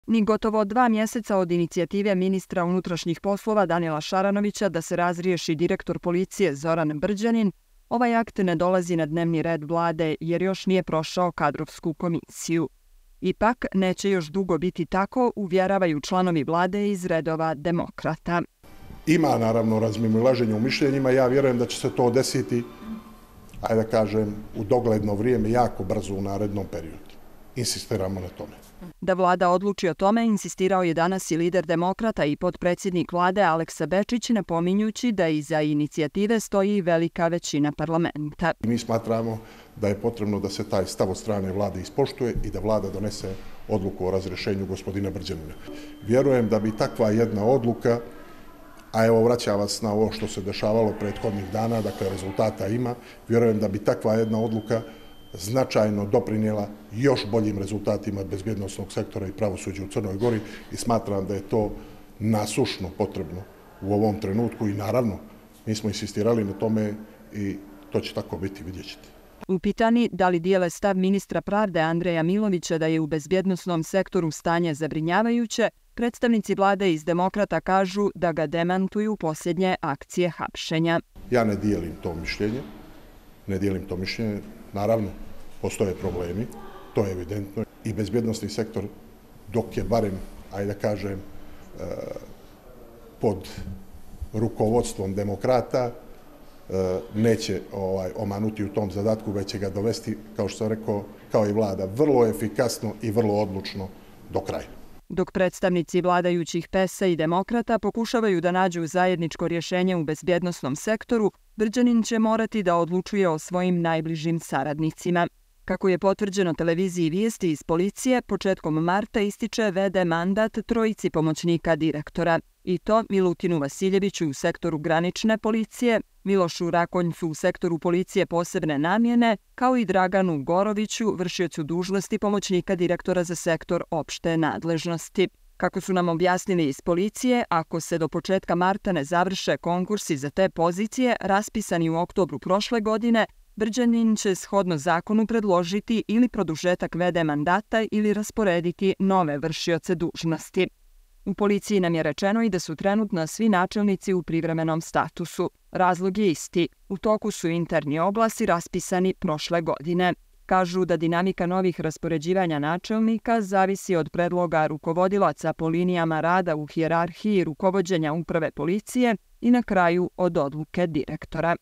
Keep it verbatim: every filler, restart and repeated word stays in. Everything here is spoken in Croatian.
Ni gotovo dva mjeseca od inicijative ministra unutrašnjih poslova Danila Šaranovića da se razriješi direktor policije Zoran Brđanin, ovaj akt ne dolazi na dnevni red vlade jer još nije prošao kadrovsku komisiju. Ipak neće još dugo biti tako, uvjeravaju članovi vlade iz redova demokrata. Ima naravno razmimoilaženje u mišljenjima, ja vjerujem da će se to desiti, ajde da kažem, u dogledno vrijeme, jako brzo u narednom periodu. Insistiramo na tome. Da vlada odluči o tome, insistirao je danas i lider demokrata i potpredsjednik vlade Aleksa Bečić, napominjući da iza inicijative stoji velika većina parlamenta. Mi smatramo da je potrebno da se taj stav od strane vlade ispoštuje i da vlada donese odluku o razrješenju gospodina Brđanina. Vjerujem da bi takva jedna odluka, a evo vraćam vas na ovo što se dešavalo prethodnih dana, dakle rezultata ima, vjerujem da bi takva jedna odluka značajno doprinijela još boljim rezultatima bezbjednosnog sektora i pravosuđa u Crnoj Gori i smatram da je to nasušno potrebno u ovom trenutku i naravno mi smo insistirali na tome i to će tako biti, vidjet ćete. Upitani da li dijele stav ministra pravde Andreja Milovića da je u bezbjednosnom sektoru stanje zabrinjavajuće, predstavnici vlade iz demokrata kažu da ga demantuju posljednje akcije hapšenja. Ja ne dijelim to mišljenje, ne dijelim to mišljenje, naravno postoje problemi, to je evidentno i bezbjednosni sektor dok je barem, ajde da kažem, pod rukovodstvom demokrata, neće ovaj, omanuti u tom zadatku, već će ga dovesti, kao što sam rekao, kao i vlada, vrlo efikasno i vrlo odlučno do kraja. Dok predstavnici vladajućih P E S A i demokrata pokušavaju da nađu zajedničko rješenje u bezbjednosnom sektoru, Brđanin će morati da odlučuje o svojim najbližim saradnicima. Kako je potvrđeno televiziji Vijesti iz policije, početkom marta ističe ve de mandat trojici pomoćnika direktora. I to Milutinu Vasiljeviću u sektoru granične policije, Milošu Rakonjcu u sektoru policije posebne namjene, kao i Draganu Goroviću, vršiocu dužnosti pomoćnika direktora za sektor opšte nadležnosti. Kako su nam objasnili iz policije, ako se do početka marta ne završe konkursi za te pozicije, raspisani u oktobru prošle godine, Brđanin će shodno zakonu predložiti ili produžetak ve de mandata ili rasporediti nove vršioce dužnosti. U policiji nam je rečeno i da su trenutno svi načelnici u privremenom statusu. Razlog je isti. U toku su interni oglasi raspisani prošle godine. Kažu da dinamika novih raspoređivanja načelnika zavisi od predloga rukovodilaca po linijama rada u hijerarhiji rukovođenja uprave policije i na kraju od odluke direktora.